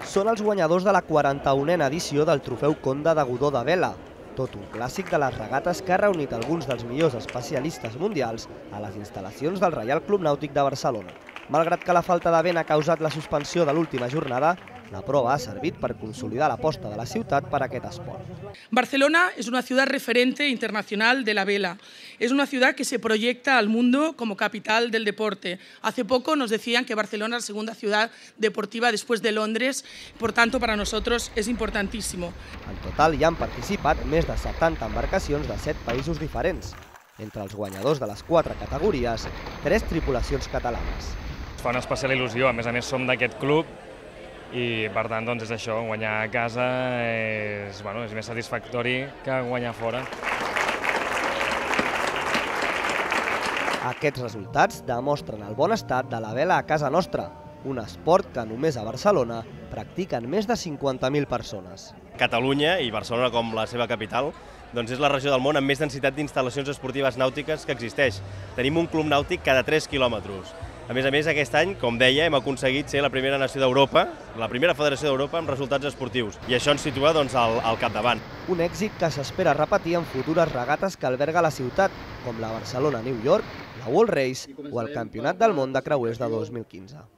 Són els guanyadors de la 41a edició del Trofeu Conde de Godó de Vela, tot un clàssic de les regates que ha reunit alguns dels millors especialistes mundials a les instal·lacions del Reial Club Nàutic de Barcelona. Malgrat que la falta de vent ha causat la suspensió de l'última jornada, la prova ha servit per consolidar l'aposta de la ciutat per a aquest esport. Barcelona es una ciudad referente internacional de la vela. Es una ciudad que se proyecta al mundo como capital del deporte. Hace poco nos decían que Barcelona es la segunda ciudad deportiva después de Londres, por tanto para nosotros es importantísimo. En total hi han participat més de 70 embarcacions de 7 països diferents. Entre els guanyadors de les 4 categories, 3 tripulacions catalanes. Fa una especial il·lusió, a més som d'aquest club i per tant doncs és això, guanyar a casa és més satisfactori que guanyar fora. Aquests resultats demostren el bon estat de la vela a casa nostra, un esport que només a Barcelona practiquen més de 50.000 persones. Catalunya, i Barcelona com la seva capital, doncs és la regió del món amb més densitat d'instal·lacions esportives nàutiques que existeix. Tenim un club nàutic cada 3 quilòmetres. A més, aquest any, com deia, hem aconseguit ser la primera nació d'Europa, la primera federació d'Europa amb resultats esportius. I això ens situa al capdavant. Un èxit que s'espera repetir en futures regates que alberga la ciutat, com la Barcelona-New York, la World Race o el Campionat del Món de Creuers de 2015.